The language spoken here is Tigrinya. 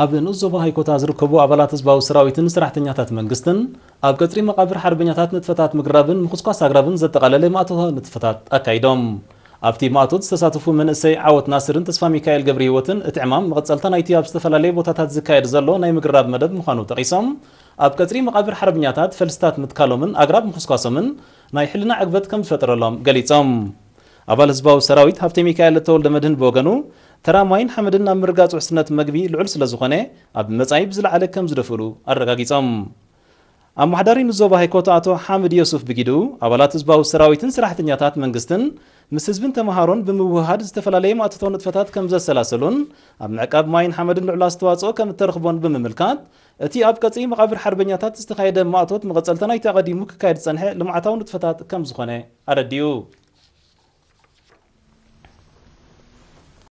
ኣብ ንኡስ ዞባ ሃይኮታ ዝርከቡ ኣባላት ህዝባዊ ሰራዊትን ሰራሕተኛታት መንግስትን ኣብ ቀጽሪ መቓብር ሓርበኛታት ንጥፈታት ምግራብን ምኹስኳስ ኣግራብን ዘጠቓለለ ማእቶታዊ ንጥፈታት ኣካይዶም። ኣብቲ ማእቶት ዝተሳተፉ መንእሰይ ዓወት ናስርን ተስፋ ሚካኤል ገብረ ህይወትን እቲ ዕማም መቐጸልታ ናይቲ ኣብ ዝተፈላለየ ቦታታት ዝካየድ ዘሎ ናይ ምግራብ መደብ ምዃኑ ጠቒሶም፣ ኣብ ቀጽሪ መቓብር ሓርበኛታት ፈልስታት ምትካሎምን ኣግራብ ምኹስኳሶምን ናይ ሕልና ዕግበት ከም ዝፈጠረሎም ገሊጾም። ኣባል ህዝባዊ ሰራዊት ሃብተ ሚካኤል ተወልደ መድህን ብወገኑ፣ ተራ ማይን ሓመድን ኣብ ምርጋጽ ውሕስነት መግቢ ልዑል ስለ ዝኾነ፣ ኣብ መጻኢ ብዝለዓለ ከም ዝደፍእሉ ኣረጋጊጾም። ኣመሓዳሪ ንዞባ ሃይኮታ ኣቶ ሓምድ ዮሱፍ ብጊዱ፣ ኣባላት ህዝባዊ ሰራዊትን ሰራሕተኛታት መንግስትን ምስ ህዝብን ተመሃሮን ብምውህሃድ ዝተፈላለየ ማእቶታዊ ንጥፈታት ከም ዘሰላሰሉን ኣብ ምዕቃብ ማይን ሓመድን ልዑል ኣስተዋጽኦ ከም እተረኽቦን ብምምልካት፣ እቲ ኣብ ቀጽሪ መቓብር ሓርበኛታት ዝተኻየደ ማእቶት መቐጸልታ ናይቲ ኣቐዲሙ ክካየድ ዝጸንሐ ልምዓታዊ ንጥፈታት ከም ዝኾነ ኣረዲኡ።